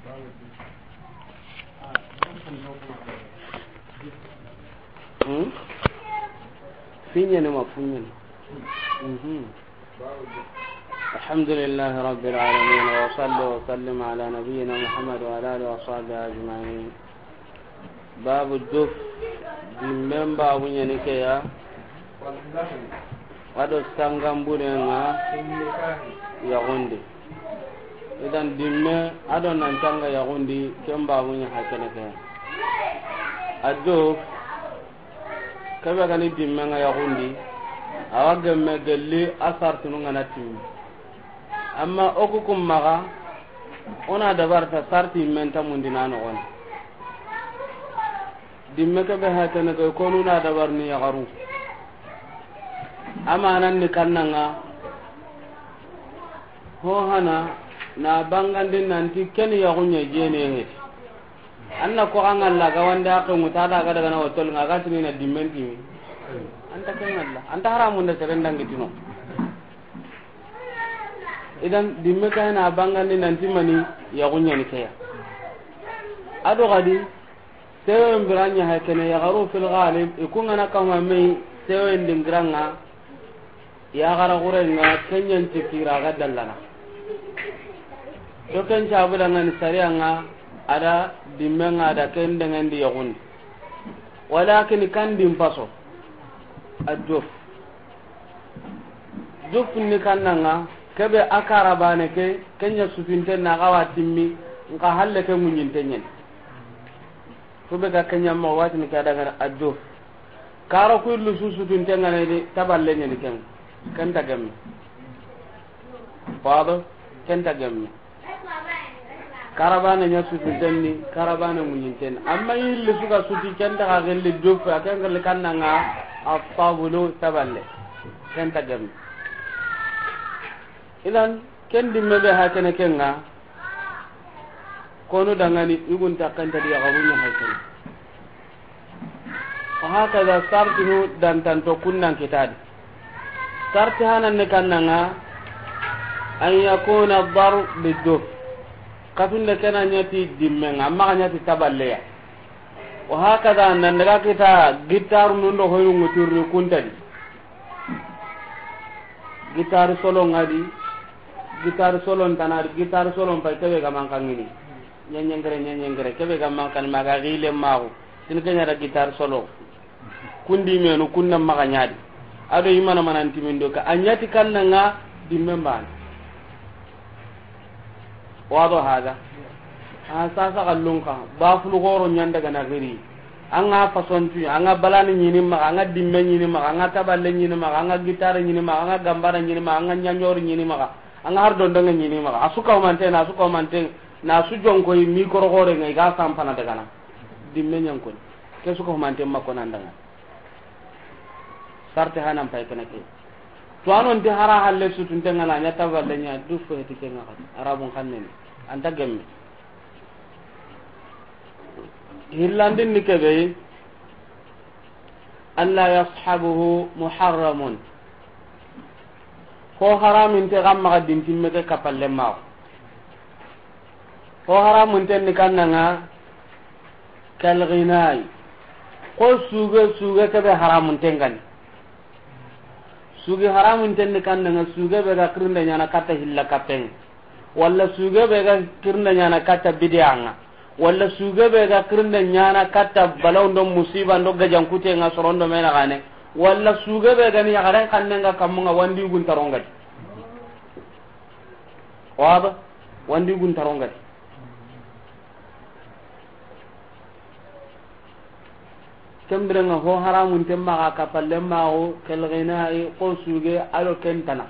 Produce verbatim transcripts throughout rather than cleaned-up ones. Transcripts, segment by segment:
Hmm? Finyene ma funyene. Mhm. الحمد لله رب العالمين، وصلى وسلم على نبينا محمد وعلى آله وصحبه أجمعين. باب الدف. Dimmen babu ɲani ke ya. A do sanganburen ŋa yaxun di. Idan dimme a do nan tanga yaxun di, ken babu ɲa hakene ke ya. A do kebe gani dimmen ŋa yaxun di, a wa gemme gelli a sartinu ŋa na timmi. Amma o ku kun maxa, o na dabarta sarti men ta mundi na noxon. Dimme kebe hakene ke, konu na dabar ni yaxaru. Amanan ni kannanga, ho hana na bangandi nanti ken yaxun ɲa jene he. An na ko an ŋalla ga wande a xenŋu ta da ga daga na wotol ŋa ga tini na dimmen timi. An ta ken ŋalla. An ta haramun da seren dangi tino. Idan dimme kay na bangandi nanti mani yaxun ɲani ke ya. A do gadi, sewen bira ɲa hakene yaxaru fil ghalib, i kun ŋa na kama me sewen dingiran ŋa, yaxara xuren ŋa, ken ɲan ti kira ga dallana. To ken cabu da ŋa ni sariya ŋa, a da dimmen ŋa, a da ken dangan di yaxun di. Walakin kan dim paso. A jof. Jof ni kannanga, kebe a karabane ke, ken ɲa sutunten na ga wa timmi, nka halle ke ŋuɲinten ɲen. Kube ga ken ɲa ma watini ke a daga a jof. Karo ku illu su sutunten ŋa ne di, taballe ɲani ken. Ken ta gemme. Wado, ken ta gemme. Karabane ɲa sutunten ni, karabane ŋuɲinten ni. Amma yilli suga suti ken ta ga gelli jof, a ken gelli kannanga, a tabulu taballe. Ken ta gemme. Idan, ken dimme be hakene ken ŋa, konu dangani, i gun ta ken ta di yaxaru ɲa hakene. Wa hakaza sartinu dantanto kunnan kitadi. Sarti hanan ni kannanga, an yakuna dar biduf. Katunde kena ɲati dimmen ŋa, amma ga ɲati taballeya. Wa hakaza nan daga kita gitaru nundo hoyru ŋuturni kuntadi. Guitare solo ŋa di, guitare solo ntana di, guitare solo mpa kebe ga mankangini. Ɲeɲengere, ɲeɲengere, kebe ga mankani maga gile mago. Tin kenya da guitare solo. Kundi menu kunna maga ɲadi. A do imana mananti min do ka a ɲati kannanga dimmen bana. Wado hada. A sasa kallunka, ba fulu goro ɲanda gana giri. An ga façon tu, an ga balani ɲini maga, an ga dimme ɲini maga, an ga taballe ɲini maga, an ga guitare ɲini maga, an ga gambara ɲini maga, an ga ɲaɲori ɲini maga, an ga har dondonge ɲini maga. A su ka humante na, a su ka humante na, a su jonko yi micro gore ngai ga sampana dagana. Dimme ɲankoni. Ke su ka humante mako nan daga. Sarte hanan pay kene ke. To anon ti hara halle sutunten ŋa na ɲa taballe ɲa du fo heti ke ŋa kati. Arabun xannen. An ta gemme. Hillandin ni kebe, alla yashabuhu muharramun. Ko haramin te gamma ga dintimme ke kapalle ma. Ko haramun ten ni kannanga kal ghinai. Ko suge, suge kebe haramun ten gani. Suge haramun ten ni kannanga suge be ga kirinde ɲana katta hilla kapen. Walla suge be ga kirinde ɲana katta bidiyanga. Walla suge be ga kirinde ɲana katta balawndo musiba ndo gajankute nga sorondo mena gane. Walla suge be ga ni yaxaren kannen ga kammunga wandi gun tarongadi. Waba wandi gun tarongadi. Kembirenga ho haramun temma ga kapalle mago kel ghinai ko suge alo kentana.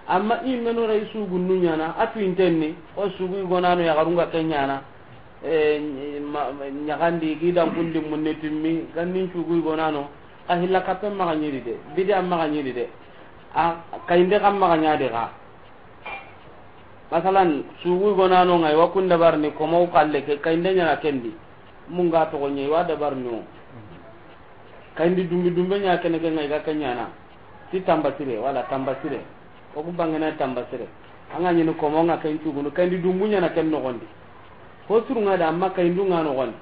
Amma i menu ray sugu nu ɲana a tuintenni o sugu i gonano yaxarunga ke ɲana. E, ɲagandi gidan kundi munne timmi gannin sugu i gonano. A hilla kappen maga ɲidi de, bidi an maga ɲidi de. A kayinde kan maga ɲadi ga. Masalan, sugu gonano ngai wa kun dabarni komo kalle ke kayinde ɲana kendi. Munga togo ɲe wa dabarni o. Kayindi dumbi dumbe ɲa kene ke ngai ga ke ɲana. Ti tambasire wala tambasire. O ku bangena tambasire. Anga ɲini komo nga ken cugunu kayindi dumbu ɲana ken nogondi. Ho surunŋa da, amma kayindu ŋa noxondi.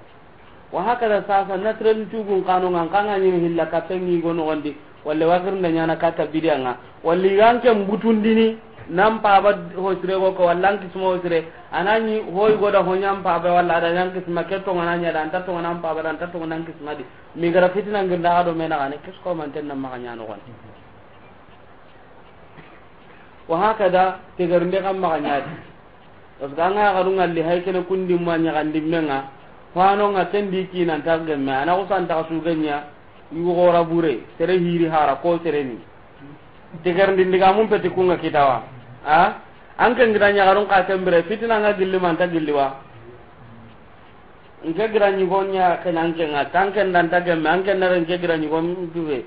Wa hakada sasa, nasrani tugun kano ŋa, n xa ŋa ɲini hilla kapengi go noxondi, walla wa xirnda ɲana kata bidiya ŋa, walla i ga n ke mbutundini, nan paba ho sire go ko, walla n kisma ho sire, a na ɲi ho i go da ho ɲa n paba, walla a da ɲa n kisma ke toŋa na ɲa da, an ta toŋa na n paba da, an ta toŋa na n kisma di. Mi gara fitina ngirnda xa do me na xa ne, kisko manten na maxa ɲa noxondi. Wa hakada, tegerinde xa maxa ɲa di. Parce que an ga yaxarun ŋalli hay kene kundi ma ɲaxandi me ŋa, fano ŋa ken di kinan ta gemme, a na xusan ta su genya, yugo xora bure, sere hiri hara ko sere ni. Tegerindi ndiga mun peti ku ŋa kitawa. A? An ken gida ɲaxarun xa ken bire, fitina ŋa gilli ma n ta gilli wa. N ke gira ɲigo ɲa ken an ke ŋa, tan ken da n ta gemme, an ken na ren ke gira ɲigo n duwe.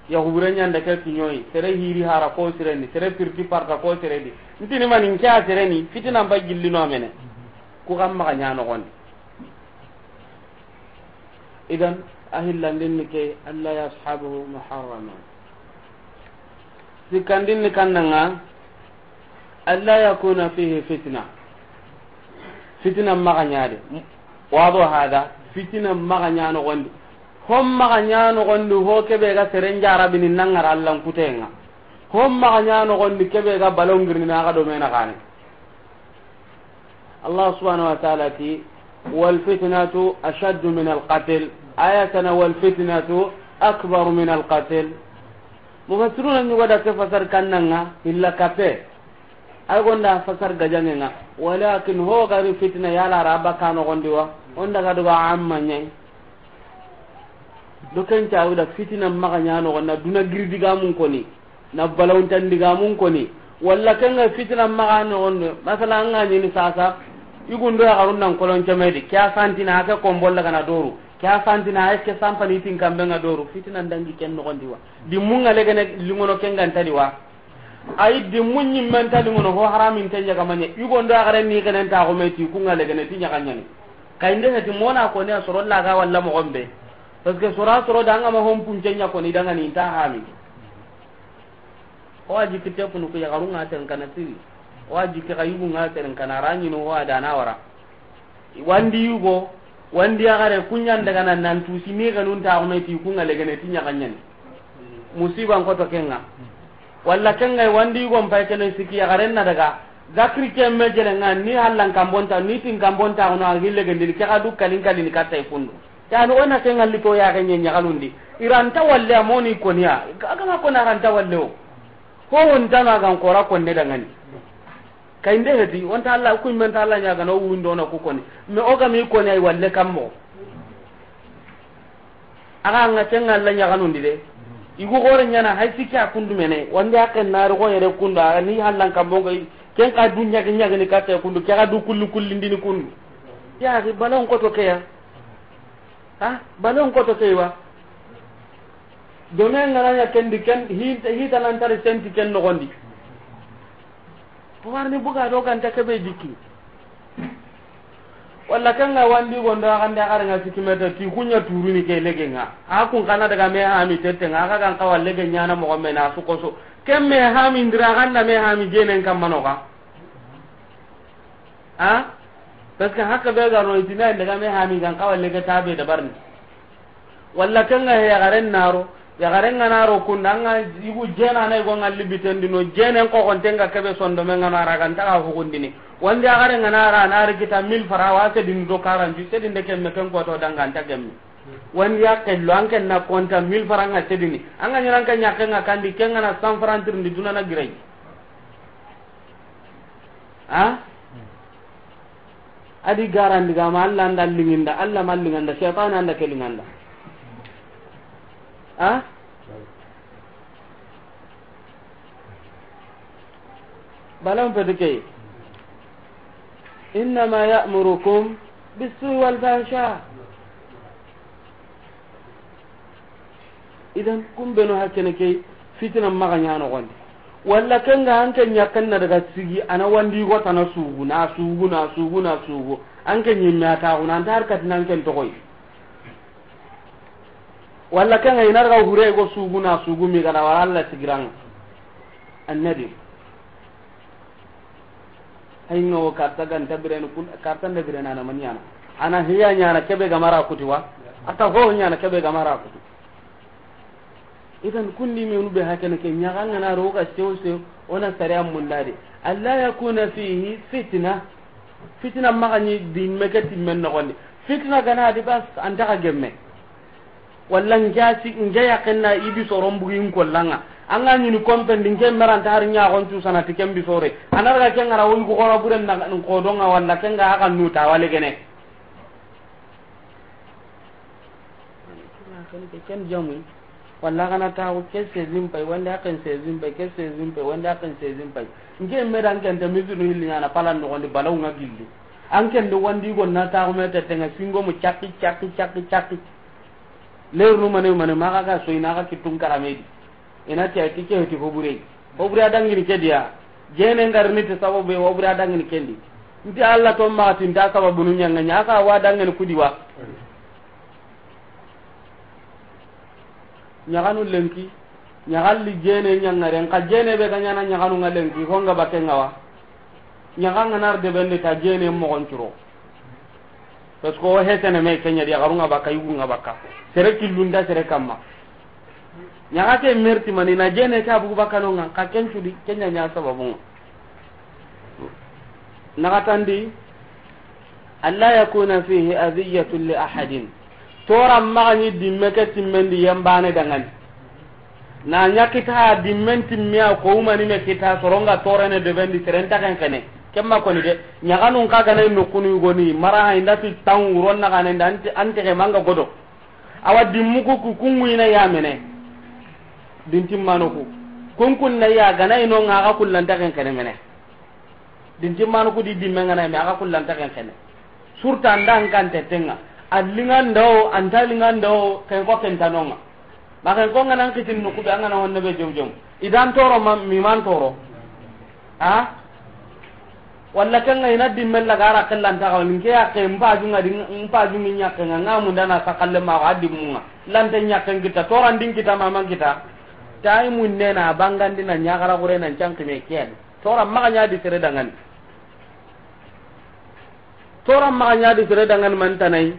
Ya hubure ɲa nda ke kiɲoyi, sere hiri hara ko sere ni, sere pirti parta ko sere di. N tini mani n ke a sere ni, fitina n ba gilli no mene. Ku xa maxa ɲa noxondi. Idan, a hillandin ni ke, alla yashabuhu muharrama. Sikkandin ni kanna ŋa, alla yakuna fihi fitna. Fitina maxa ɲa de. Wado hada, fitina maxa ɲa noxondi. Hom maxa ɲa noxondi, ho kebe ga seren jarabini nangara allan kutenga. Hom maxa ɲa noxondi, kebe ga balongirni na ga do me na xa ne. Allah subhanahu wa ta'ala ti, "Wal fitnatu ashaddu min al qatl." Ayatana, "Wal fitnatu akbaru min al qatl." Mufassiruna ɲugo da ke fasar kanna ŋa, illa kape. Ay gonda fasar gajange ŋa. Walakin ho gari fitna yala raba ka noxondi wa. Onda ga duga amma ɲai. Do ken cawu da fitina maxa ɲa noxon na duna giri digamun koni, na balawuntan digamun koni, walla ken ga fitina maxa noxon do. Masala, an ga ɲini sasa, yugun do yaxarun nan kolon cemedi, ke a santina a ke kombol daga na doru, ke a santina a ke sampani tin kambe ŋa doru, fitina ndangi ken noxondi wa. Di mun ŋa legene lingono ken ga nta di wa. Ayi, dimmu ɲimmen ta lingono ho haramin te ɲaga maɲe. Yugon do a garen ni kenen ta xo me ti ku ŋa legene ti ɲaga ɲani. Kayinde heti mona ko ne a soro laga walla moxon be. Parce que sora soro da ŋa ma hon punce ɲa ko ni daga ni ta hami. O aji kite kunu ku yaxarun ŋa ten kana siri. O aji ke ga yugun ŋa ten kana ra ɲinu o adana wara. Wandi yugo, wandi yaxare, ku ɲan daga na nan tusi ni ganun ta xo me ti ku ŋa legene ti ɲaga ɲani. Musiban koto ken ŋa. Walla ken ŋa wandi yugo n pay kene siki yaxaren na daga. Zakri ke me jele ŋa ni hallan kambonta, ni tin kambonta xo no a gille gendini ke ga du kalin kalin ka tay kundu. Tani o na ken ŋa lito ya ga ɲe ɲagalundi. Iranta walle amoni koniya. Aga ma kona ranta walle o. Ho on tana gan kora konne dangani. Kayinde heti, onta Allah, ku men ta Allah ɲaga no wundo na ku koni. Me o ga mi koni ay walle kammo. Aga nga ken Allah ɲaganundi de. Igu gore ɲana hay sikki a kundu mene. Wandi a ken na ro yere kundu, a ni hallan kammo ngai. Ken ka du ɲagi ɲagi ni katta kundu, ke ga du kulli kulli ndini kundu. Ya ri balon koto ke ya. Ha? Balon koto ke wa. Dome ngana ɲa ken di ken, hi, hita nan tari senti ken nogondi. Warni buga do ganta kebe jikki. Walla ken ŋa wandi gondo a gande a gare ŋa siki meta ti ku ɲa turuni ke lege ŋa. A kun kana daga me hami tette ŋa, a ga gan kawa lege ɲana mogo me na su koso. Ken me hami ndira ganda me hami jenen kamano ga. Ha? Parce que haka be ga ro itina daga me hami gan kawa lege tabe da barni. Walla ken ŋa he yaxaren naro, yaxaren ŋa naro kunda, an ŋa yugu jena na yugo ŋa libitendi no, jenen koxonten ŋa kebe sondome ŋa nara ga nta ga hugundini. Wandi yaxaren ŋa nara na ri kita mille francs, wa sedini do quarante, sedinde kemme ken koto danga nta gemme. Wandi ya kello, an ken na konta mille francs ŋa sedini. An ga ɲaran ken ɲakke ŋa kandi, ken ŋa na cent francs tirindi duna na girai. Ha? Adi garandi ga ma Allah nda linginda, Allah ma linganda, shaytan anda ke linganda. Ha? Balam pedike. Innama ya'murukum bis-su'i wal fahsha. Idan, kumbeno hakkene ke fitina maxa ɲa noxondi. Walla ken ŋa an ke ɲakken na daga sigi, a na wandi go tana sugu, na sugu, na sugu, na sugu. An ke ɲimme a taxu, na an ta har katina an ken toxoy. Walla ken ŋa i na daga hure go sugu, na sugu mi gana wala Allah sigiran. Annabi. Ay ŋa wo karta ga nta birene kun, karta nda birene a na ma ɲaana. A na hiya ɲaana kebe ga mara kuti wa. A ta ho ɲaana kebe ga mara kuti. Idan kundi menu be hakene ke ɲaga ŋa na ro ga sew sew, o na sariya munda di. Alla yakuna fihi fitna. Fitna maxa ɲi dimme ke timmen noxondi. Fitna ga na di bas, an ta xa gemme. Walla n ke a si, n ke yaqen na i bi soron bugi n kolla ŋa. An ga ɲini kompen di n ke meranta hari ɲaxon cu sana ti ken bi sore. A na daga ken ŋa ra wo yugo xora buren na n xodon ŋa walla ken ga a xa nuta wale gene. Ken jamu. Walla xa na taxu ke seize pay, wandi a ken seize pay, ke seize pay, wandi a ken seize pay. N ke me da n ke nta misinu hilli ɲaana palan noxondi balaw ŋa gilli. An ken do wandi go na taxu me tete ŋa singo mu cakki, cakki, cakki, cakki. Leer nu mane mane maxa ga soyi na xa kittun karamedi. I na ti a ti ke heti hobure. Hobure a dangini ke diya. Jene ngar ni ti sababu be hobure a dangini kendi. Nti Alla to maxa ti nta sababu nu ɲaŋa ɲa xa wa dangini kudi wa. Ɲaxanu lenki. Ɲaxalli jene ɲaŋaren xa jene be ga ɲaana ɲaxanu ŋa lenki ho ŋa bakke ŋa wa. Ɲaxa ŋa nar de bende ta jene moxon curo. Parce que o hetene me kenya di, yaxarun ŋa bakka, yugun ŋa bakka. Sere killun da sere kamma. Ɲaxa ke merti mani na jene ke a bugu bakka no ŋa, ka ken cudi, kenya ɲa sababu ŋa. Naxatandi, alla yakuna fihi adiyatun li ahadin. Tora maxa ɲi dimme ke timmen di yembane dangani. Na ɲa kita dimmen timmiya ko umani me kita soronga torene de bendi seren ta ken kene. Kemma koni de, ɲaxanun xa gana nokunu yugoni, mara ha inda ti tan wuron na gana inda anti, anti ke manga godo. Awa dimmu ku, ku kungu ina ya mene. Dintimmano ku. Kunkun na ya gana ino ŋa ga kullanta ken kene mene. Dintimmano ku di dimme ŋa na me a ga kullanta ken kene. Surta anda an kan tetenga. A linganda o, anta linganda o, ken ko ken tanonga. Ma ken ko ŋa nan kitin no ku be an ga na honne be jom jom. Idan toro ma, mi man toro. Ha? Walla ken ŋa ina dimme la gara kellan ta ga ni ke ya ke mpa junga di, mpa jungi ɲakke ŋa ŋa mundana sakalle ma wa dimmunga. Lante ɲakken kita, toran din kita, maman kita. Tay munne na bangandi na ɲagara gure nan canki me ken. Tora maxa ɲa di sere dangani. Tora maxa ɲa di sere dangani man tanai.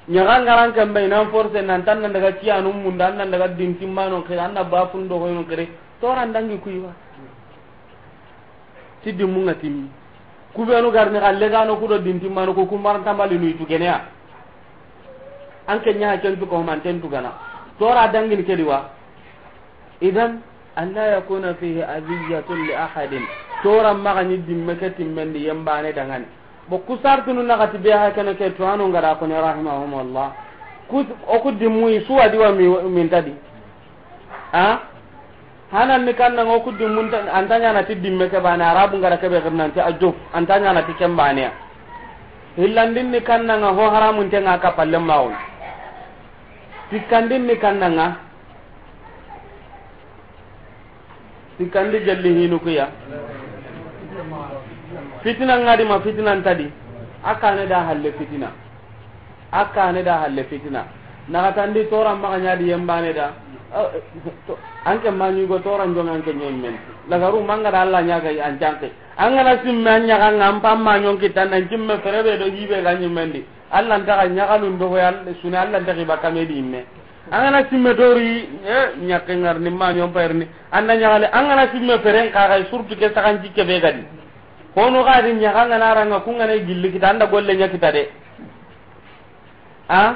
Ɲaga ngaran kan bai nan force nan tan nan daga ciyanun munda, nan daga dintimmano kira, an na bafun do hoyno kire. Tora ndangi kuiwa. Ti dimmu ŋa timmi. Ku benu garni xa legano ku do dintimmano ku, ku maranta mali nuyi tu geneya. An ke ɲa ha ken tu ko man ten tu gana. Tora dangini ke di wa. Idan, an la yakuna fihi adiyatun li ahadin. Tora maxa ɲi dimme ke timmen di yembane dangani. Bo ku sartunu naxati be ha kene ke tuwano ngara ko ne rahimahumullah. Ku, o ku dimmu i suwa di wa mi, min ta di. Ha? Hanan ni kanna ngo ku dimmun ta, anta ɲana ti dimme ke bane, arabu ngara ke be xirnan ti a jof, anta ɲana ti ken bane ya. Hillandin ni kanna nga ho haramun te nga kapalle mawun. Sikkandin ni kanna nga. Sikkandi gelli hinu kuya. Fitina ngadi ma fitina ntadi. A kane da halle fitina. A kane da halle fitina. Naxatandi tora maxa ɲa di yembane da. An ke ma ɲugo tora njonga an ke ɲemmen. Lagaru manga da Alla ɲaga an canke. An ga na simme an ɲaga nga an pamma ɲonki tan nan cimme ferebe do hibe ga ɲimmendi. Alla nta ga ɲaxalun do hoy sune, Alla nta ga i bakka me di imme. An ga na simme dori, eh, ɲakke ngar ni ma ɲon payir ni. An na ɲaxale, an ga na simme feren xa ga surtout ke saxan cikke be gadi. Hono ga di ɲaxa an ga na ranga kun ga na gilli kita an da golle ɲa kita de. A?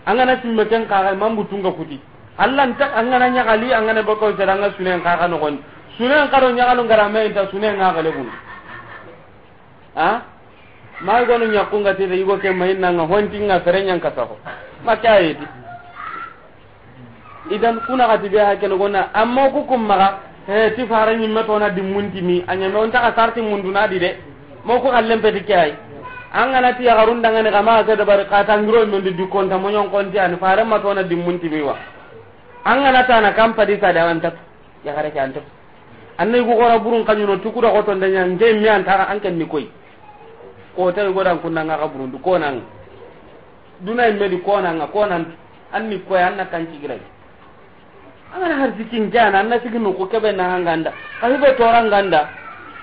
An ga na simme ken xa ga mambu tunga kuti. Alla nta an ga na ɲaxali an ga na bako sera an ga sunen xa ga no gon. Sunen xa do ɲaxalun gara me inta sunen ga gale gun. A? Ma gonu ɲakkunga tete yugo ke mayinnanga hontinga fere ɲanka saxo. Ma ke ayeti. Idan kuna xati be ha kene gonna amma ku kum maxa, he ti fara ɲimme tona dimmuntimi a ɲame on taxa sarti munduna di de. Mo ku xallen peti ke ay. An ga na ti yaxarun dangani xa maxa ke dabari xa tangiro men di dikkonta moɲon konti ani fare ma tona dimmuntimi wa. An ga na tana kam padi sade an tatu. Yaxare ke an tatu. An na yugu xora burun kaɲuno tukuda xoto ndenya nge mi an taxa an ken ni koy. Ko tay godan kunna nga xa burundu ko nan. Duna imme di ko nan nga ko nan. An ni koy an na kan cigiray. An ga na har sikin jana an na siginu ko kebe na hanganda. Ka hibe toranganda.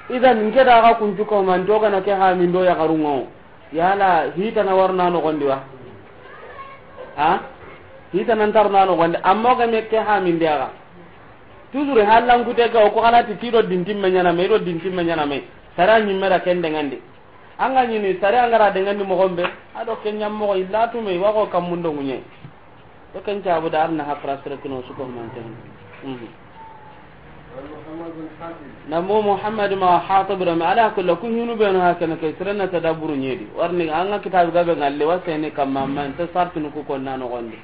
Idan, nke da ga kuncu ko man to gana ke ha min do yaxarun ŋa. Yala, hitana warna noxondi wa? Ha? Hitana ntarna noxondi. Amma o ga me ke ha min de ga. Toujours hallan kute ga o ko xanati ti do dintimme ɲana me, do dintimme ɲana me. Sara ɲimme da ken dengandi. An ga ɲini sare an ga ra dengandi moxo be, a do ken ɲa moxo illa tume, wa xo kammundo ŋuɲe. To ken cabu da arna hapra sere kino suko manten. Mhm. Na mo Muhammad ma Hatib rami ala kulli ku hinu be no hakana ke sere na tadabburu ɲedi. Warni an ga kitabu gabe ngalle wa sene kamma man ta sartinu ku konna noxondi.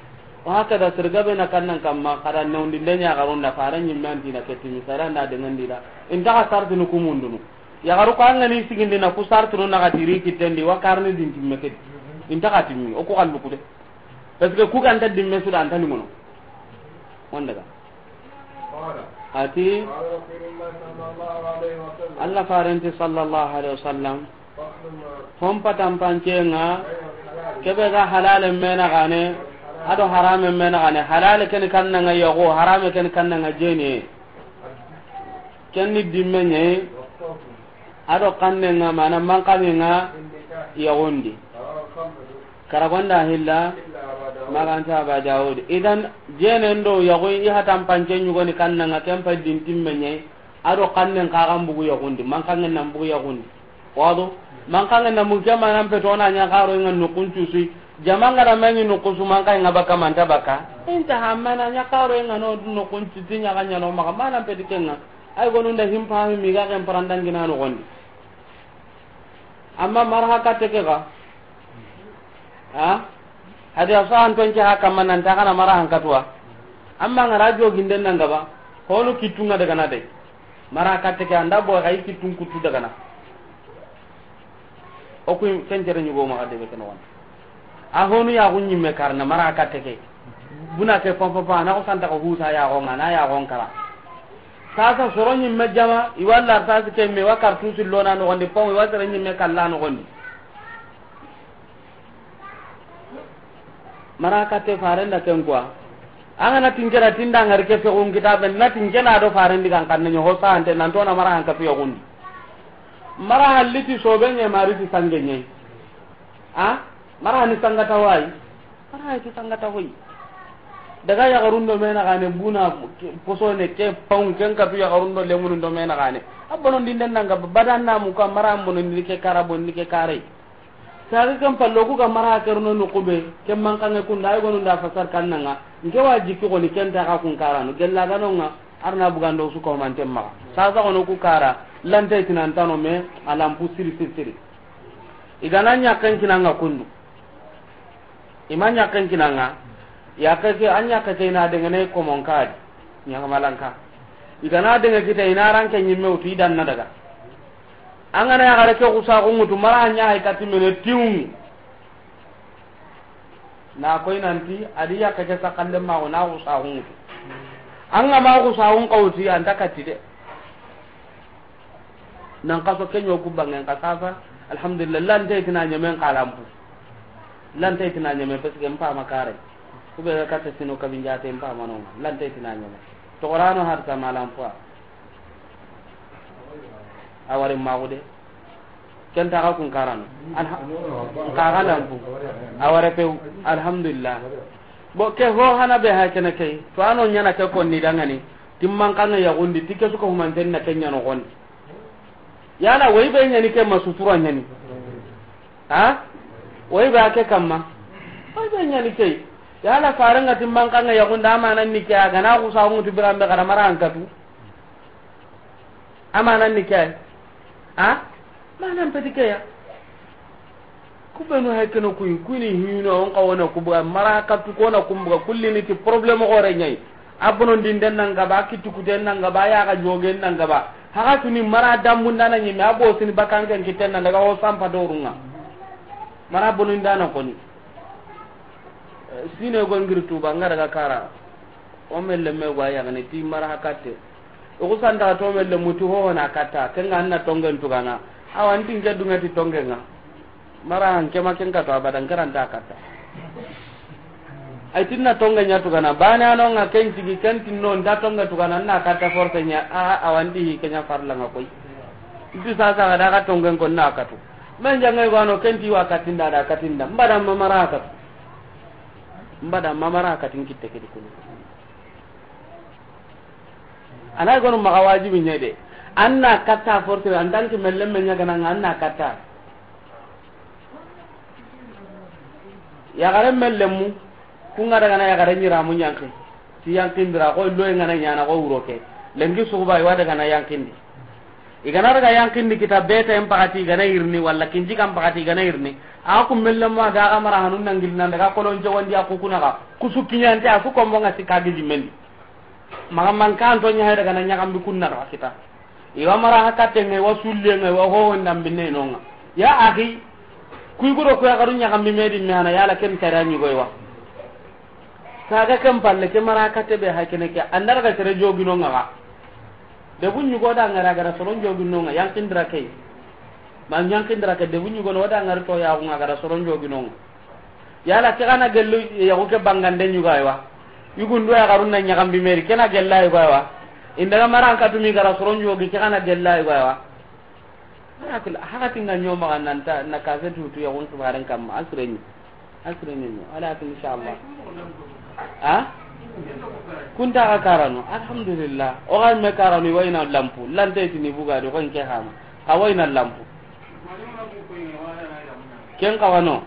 O hakada sere gabe na kannan kamma kada newndi lenya garunda fara ɲimmanti na ketimi sara na dengandi da. Inta ka sartinu ku mundunu. Yaxaru ko an ga ni sigindi na ku sartunu na ga tiri kitendi wa karni dintimme ke. Inta ka timmi o ku xallu ku de. Parce que ku ga nta dimme su da anta ni mono. On daga. Ati Allah farenti sallallahu alaihi wasallam. Hon patan pancenga kebe ga halale mena gane. Ado harame mena gane. Halale ken kannanga yaxo, harame ken kannanga jeni. Ken ni dimme ɲe. Ado kannenga mana mankanenga yaxundi. Karagonda hilla maganta Aba Dawud. Idan jenen do yaxu i hatan pance ɲugoni kannenga ken pa dintimme ɲe. Ado kannen kagan bugu yaxundi, mankangen nan bugu yaxundi. Wado mankangen nan bugu ke manan petona ɲa karo inga nukun cusi. Jamanga da mani nukusu mankangen baka manta baka. Inta hamana ɲa karo inga no nukun cusi ɲa ga ɲa no maka manan peti kenga. Ay gonun da himpa mi ga ken parandangina no gondi. Amma mara hakatte ke ga. Ha? Hadi asahan tonke haka manan ta kana mara hankatuwa. Amma ngara joginden nan gaba. Honu kitunga daga na dai. Mara hakatte ke anda bo ga kitun kutu daga na. O ku ken jere ɲugo ma de be ken won. A honu yaxu ɲimme karna mara katte ke. Buna ke pam pam pam na ko santa ko husa yaxo nga na yaxo kara. Sasa soro ɲimme jama i walla sasa ke me wa kartu sillona no gonde pam i wa sere ɲimme kalla no gonde. Mara katte farenda ken quoi. An ga na tinkera tinda ngari ke fexun kitabe na tinkena do farendi kan kan ɲo ho sante nan to na mara han ka fiyo gundi. Mara halliti sobe ɲe mari ti sange ɲe. A mara ni sangata wayi. Mara ti sangata hoyi. Daga yaxarun do mena gane buna posone ke paun ken katu yaxarun do lemunun do mena gane. A bonondi nden nanga badan namu ka mara bonondi ke kara bonondi ke kare. Saga kan pallo ku ga mara kerno no kube ke mankange kunda ay gonunda fasar kannanga. Nke wa jikki goni ken ta ka kun karano gella ganonga. Arna bugando su ko man temma. Sasa gono ku kara lante tinantano me alampu siri siri siri. Igana ɲakken kinanga kundu. Ima ɲakken kinanga. Yakke ke an ɲakke ke ina dengene komon kadi. Ɲaga malanka. Igana denge kita ina ranke ɲimme utu idan na daga. An gana yaxare ke xusaxu ŋutu mara ɲa hay kati mene tiwungu. Na koy nanti adi yakke ke sakalle maxo na xusaxu ŋutu. An ga ma xusaxun kawti anta kati de. Nan kaso kenyo ku bangen ka sasa. Alhamdulillah lante tina ɲemen kalampu. Lante tina ɲeme parce que mpa makare. Kube ga katta sino kabinjate mpa mano. Lante tina ɲeme. To qorano har ta malampu. A wari maxu de. Ken ta xa kun karano. Alha-, xa xa lampu. A wara pew. Alhamdulillah. Bo ke ho hana be ha kene kay. To ano ɲana ke konni dangani. Timman kanga yaxundi. Tike suka humanten na kenya no gondi. Yala way be ɲani ke ma sutura ɲani. Ha? Way be ake kamma. Way be ɲani ke. Yala farenga timman kanga yaxunda amana ni ke a gana xusa ngutu birambe kada mara an katu. Amana ni ke. Ha? Mana peti ke ya. Kubenu hay keno kuyi kuni hino on ka wona kubuga mara katu kona kumbuga kullini ti problème gore ɲay. A bonondi nden nan gaba, a kitukuten nan gaba, a yaxa jogen nan gaba. Haxa tuni mara dambundana ɲimme, a bosini bakanken kitten nan daga o sampa dorunga. Mara bonondana koni. Eh, sine go ngiri tuba, nga daga kara. O melle me go a yaxini ti mara hakatte. O ku santa to melle mutu ho na katta, kenga anna tongen tugana. Awa nti nke dunga ti tongenga. Mara han kema ken kato abadan karanta katta. Ay tinna tonga ɲa tugana bane ano nga ken tigi ken tinno nda tonga tugana na katta force ɲa a awanti hi kenya farla nga koy. Nti sasa ga daga tongen ko na katu. Men jange gano kenti wa katinda da katinda. Mbada mamara katu. Mbada mamara katin kitte kedi kunu. Ana gonu maga wajibi nyede. Anna katta forte andanki melle men nyaga nan anna katta. Yagare mellemu, kunga daga na yagare nyiramu nyanki. Ti yankindira ko lo ngana nyana ko wuro ke. Lenki suguba iwa daga na yankindi. Igana daga yankindi kita beta en pakati igana irni wala kinji kan pakati igana irni. Aku mellemu daga mara hanun nangil nan daga kolon jawandi aku kuna ka. Kusu kinyante aku kombo nga sikagi jimendi. Maga mankan to nya daga na nyakambi kunna ra kita. Iwa mara hakatenga, iwa sullenga, iwa hoho ndambinne nonga. Ya akhi, kuy gudo kuya garu nyakambi medi mehana yala ken tara nyugo iwa. Saga ken palle ke mara kate be hakene ke andar ga tere jogi nonga ga. De bu nyugo da ngara gara soron jogi nonga yankindira ke. Man yankindira ke de bu nyugo no da ngar to ya ngara soron jogi nonga. Yala ke gana gellu yago ke bangande nyuga aywa. Yugundu ya garunna nyagambi meri kena gella aywa. Indaga maran katumi gara soron jogi ke gana gella aywa. Hakati nga nyoma nanta na kase tutu yagun kibaren kam asreni. Asreni no. Walakin inshallah. Ha? Kunta ka karano. Alhamdulillah. O ga me karano wayna lampu. Lante tini buga do ko ke hama. Ka wayna lampu. Ken kawano.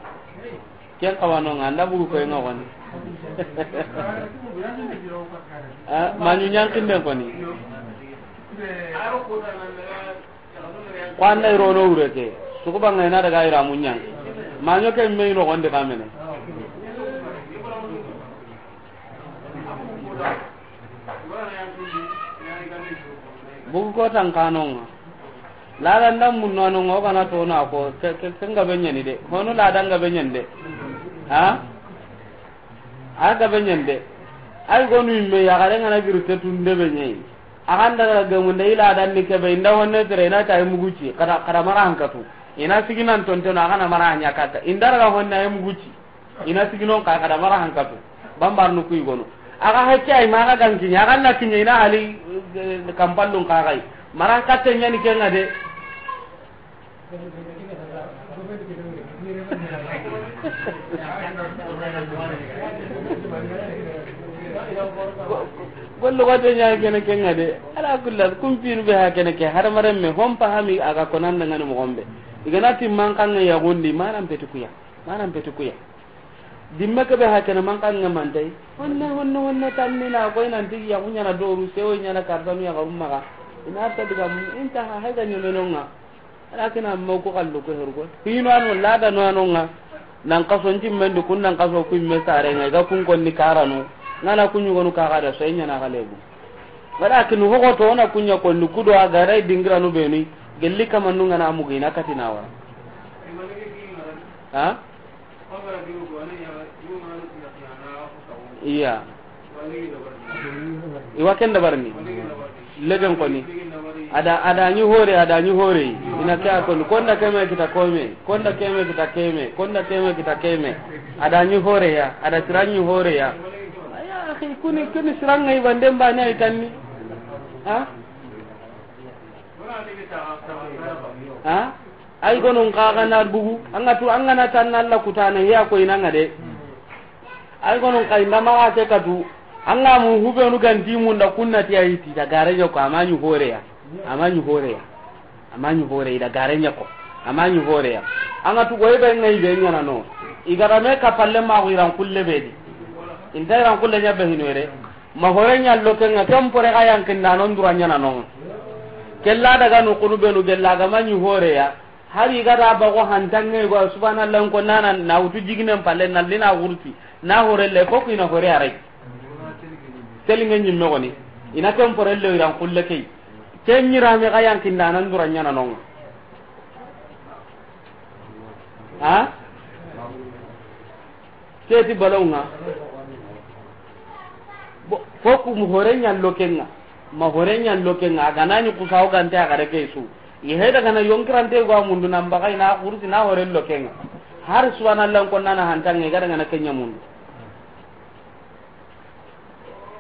Ken kawano nga nda bugu ko nga woni. Ah, manyu nyankinden koni. Ko anda irono wure ke. Sukuba nga ina daga ira munyan. Manyo ke me no gonde kamene. Bugu ko tan kanonga. Lada nda munno anonga o kana to na ko ke, ke, ke nga be nyani de. Hono lada nga be nyani de. Ha? A ga be nyani de. Ay gonu imme ya gare ngana biru te tunde be nyai. A kan daga ga mun de ila dan ni ke be inda honne tere ina ta muguci kada, kada mara hankatu. Ina siginan tonte no a kana mara nya kata. Inda daga honne ay muguci. Ina siginon ka kada mara hankatu. Bambar nu kuy gono. Aga hakke ay maga ganki nya ganna kinya ina hali, eh, kampallun ka gai. Mara katte nyani kenga de. Gollo wate nya kene kenga de. Ala kulli hal kumpinu be ha kene ke har maremme hon pahami aga konan ngani mo gombe. Igana timman kanga ya gondi manan petukuya. Manan petukuya. Dimme ke be ha kene man kan nga mantai. Honne, honne, honne tanni na koy nan tigi ya kunya na doru sewo nya na kardanu ya garum maga. Ina ta diga mun inta ha haiga nyemenonga. Ala kina mo ko kallo ko hergo. Hino anu lada no anonga. Nan kaso njimme ndu kun nan kaso ku imme sare nga ga kun konni karano. Ngana kunyu gonu kaga da so nya na galebu. Walakin hogo to na kunya konni kudo agarai dingiranu beni. Gelli kamanu ngana mugina katina wa. Ha? Iya. Iwa ken dabarni. Legen koni. Ada, ada ni hore, ada ni hore. Ina ke akon. Konda keme kita kome. Konda keme kita keme. Konda keme kita keme. Ada ni hore ya. Ada tirani hore ya. Aya, akhi, kuni, kuni siranga ibande mbane ay tanni. Ha? Ha? Ay gonon kaga na bugu, anga tu, anga na tan Allah kutana ya ko inanga de. Ay gonon kay ndama ga te katu, anga mu hubenu ganti mun da kunna ti ay ti da gare yo ko amani horeya, amani horeya, amani horeya da gare nya ko, amani horeya. Anga tu goy be ngai be nyana no. Igara me ka palle ma ko iran kulle be di. Inta iran kulle nya be hinore. Ma hore nya loke nga tempore ga yankinda non dura nya na non. Kella daga no kunu benu gella ga mani hore ya. Hari ga da ba ko hantange go subhanallah ko nana na wutu jiginen palle na lina wurti. Na hore le ko ina hore arai. Telinge nyimme goni. Ina tempore le iran kulle kay. Ken nyira me ga yankinda non dura nya na non. Ha? Keti balonga. Bo, foku mu hore nya lokenga. Ma hore nya lokenga. Aga nani kusawo gante aga de kesu. I heda gana yonkirante go mundu nan bagai na kursi na hore lokenga. Har subhanallah ko nana hantange ga daga na kenya mundu.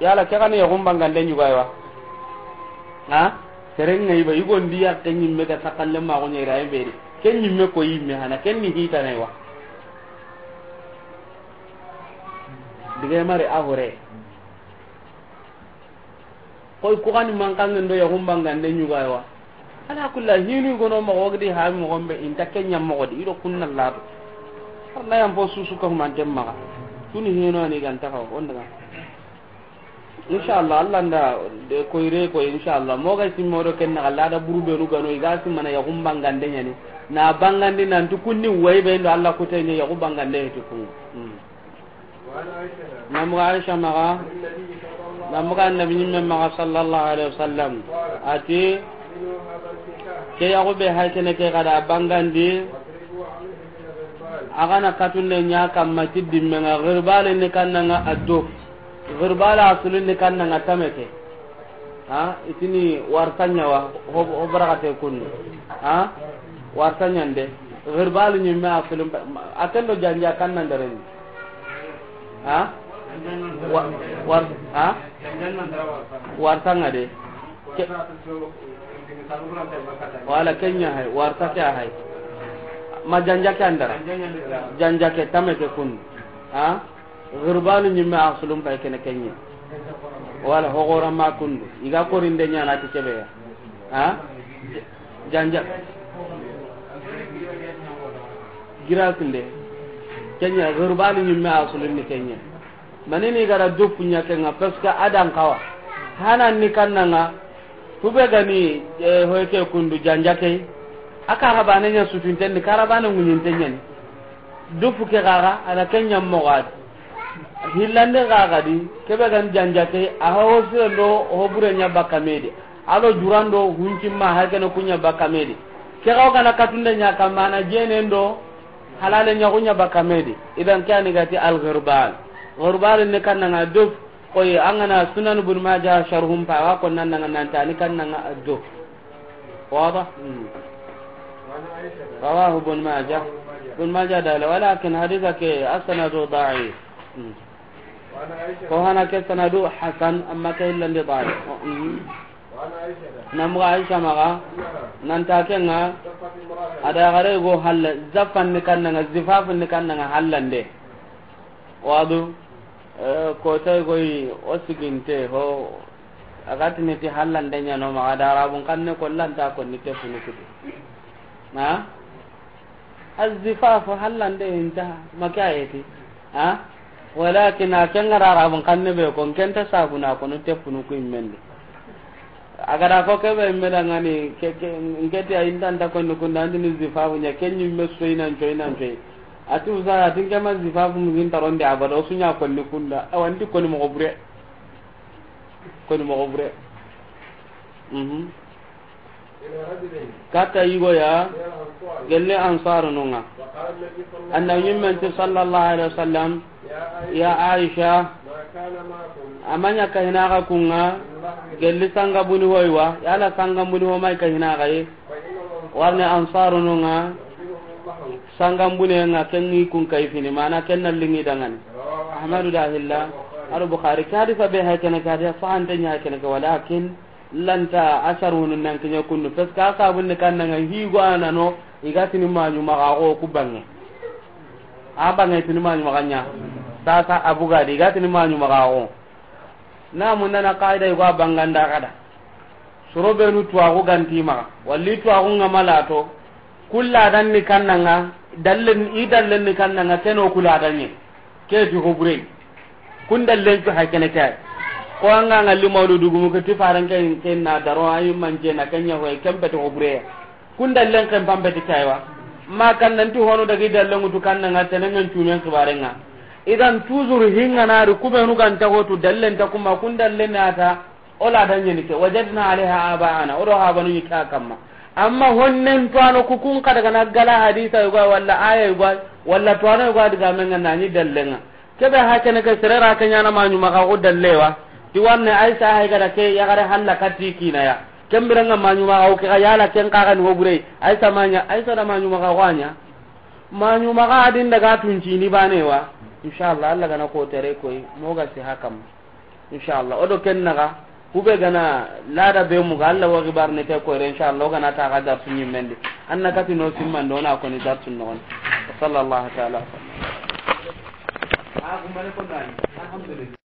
Yala ke gana ya gumbangande nyugaywa. Ha? Seren ŋa i ba, i gondi ya ke ɲimme ga sakalle ma go ɲera e beri. Ke ɲimme ko yimme hana, ken ni hita ne wa. Dige mare a hore. Koy ku gani man kan ndo ya humbangande ɲuga wa. Ala kulli hinu gono mo gogdi ha mo gombe inta ke ɲam mo godi ido kunna lado. Arna yam fo susu ka humantem maxa. Tuni hino ani ganta ka on daga. Inshallah, Allah nda de koyre ko inshallah. Mo ga simmo do ken na Allah da buru be nu gano i ga simmana ya humbangande ɲani. Na bangandi nan tukunni way be ndo Allah ko tanye ya humbangande he tukun. Hmm. Namuga Aisha maxa, namuga Annabi ɲimme maxa sallallahu alaihi wasallam. Ati, ke yaxu be hay kene ke gada bangandi, a gana katunde ɲa kamma ti dimme ŋa, girbale ni kannanga addo. Girbale asulu ni kannanga tameke. Ha, itini wartanya wa, ho, ho barakate kunnu. Ha, wartanya nde. Girbale ɲimme asulu, a kendo janja kanna ndareni. Ha? Wa-, war-, ha? Wartanga de. Ke-, wala kenya hay, warta ke hay. Ma janja ke andara. Janja ke tameke kun. Ha? Girbanu ɲimme asulum pay kene kenye. Wala hogora ma kundu. Iga korinde ɲana ti kebe ya. Ha? Janja. Gira kinde. Kenya, girbali ɲimme asulun ni kenya. Manini gara dopu ɲa kenga, parce que adan kawa. Hanan ni kannanga, kube gani, eh, hoyke kundu janja ke. Aka rabane ɲa sutunten ni karabane ŋuɲinten ɲani. Dopu ke gaga, ana kenya mogadi. Hillande gaga di, kebe gani janja ke, aha hosire ndo hobure ɲa bakka medi. Ado jurando huncimma hakene kunya bakka medi. Ke gaw gana katunde ɲa kamma na jene ndo halale ɲa kunya bakka medi. Idan ke ani gati al ghirbal. Ghirbal ne kannanga dof. Koy angana Sunan Ibn Majah sharhum pa wa ko nan nan nan tani kannanga dof. Wada? Hmm. Rawahu Ibn Majah. Ibn Majah dala, walakin haditha ke asnadu da'if. Hmm. Ko hana ke sanadu hasan, amma ke illandi da'if. Hmm. Namuga Aisha maga, nanta kenga, ada gare go halla, zafan ni kannanga, zifafun ni kannanga hallande. Wadu, eh, ko tay goy o siginte ho, agatini ti hallande ɲano maga da arabun kanne ko lanta ko ni tefunu kutu. Na? Azifafu hallande inta makayeti. Ha? Walakin a kengara arabun kanne be ko kenta sabuna ko no tefunu ku immendi. Agada ko kebe meda ngani ke, ke, ngeti a intanta ko ni kunda andini zifafu ɲa kenyi me soinan coinan coi. Ati usa atin kema zifafu mugin taronde abada osunya ko ni kunda. Awanti ko ni mo bure. Ko ni mo bure. Mhm. Kata yigo ya, gelle ansarununga. Annabi ɲimmen ti sallallahu alaihi wasallam, ya Aisha, amanya kahinaga kunga, gelli sanga buni hoywa, yala sanga buni ho mai kahinaga yi. Warne ansarununga, sanga buni nga kengi kun kayfini, mana kenna lingi dangani. Ahmadu dahilla, al Bukhari, ke hadisa be hay kene ke hadisa, sahante nya hay kene ke, walakin lanta asharunu nan kiɲa kundu, parce que a sabun ni kannanga higo anano, igatini maɲu maga go ku bange. A bange tini maɲu maga ɲa. Sasa abugadi, igatini maɲu maga go. Na mundana qaida igo a banganda kada. Soro benu tuwaxu ganti maxa, walli tuwaxu nga malato, kulla dan ni kannanga, dallen, i dallen ni kannanga, keno kula danye. Ke ti hoburey. Kun dallen cu hay kene kay. Ko anga nga li mawludu gumu ke ti faran ke, ke na daro ayi manje na kenya hoy kempe ti hoburey. Kun dallen ken pambe ti kaywa. Ma kan nan ti hono dagi dallen tu kannanga tenengen cunen xibarenga. Idan toujours hinga na ri kubenu ganta hotu dallen ta kuma kun dallen nata. O la da ɲeni ke, wajadna alaiha abaana, o do habanu ɲi ka kamma. Amma honnen tuwano ku kun ka daga na gala hadisa yugo, walla aya yugo, walla tuwano yugo diga menga na ɲi dallenga. Kebe ha kene ke serera ke ɲana maɲu maga go dallewa. Ti wanne Aisha hay gada ke ya gare halla kati kinaya. Kembiranga maɲu maga go ke ga yala ken ka ga ni hoburey. Aisha manya, Aisha da maɲu maga go anya. Maɲu maga adin daga tunci ni banewa. Inshallah, Allah gana ko tere koy, moga si hakam. Inshallah, o do ken naga, Kube gana lada be muga, Allah wa xibar ne ke koyre, inshallah, gana ta ga darsu ɲimmendi. Anna kati no simmando na koni darsu no. Sallallahu ta'ala. A gumane ko nani. Alhamdulillah.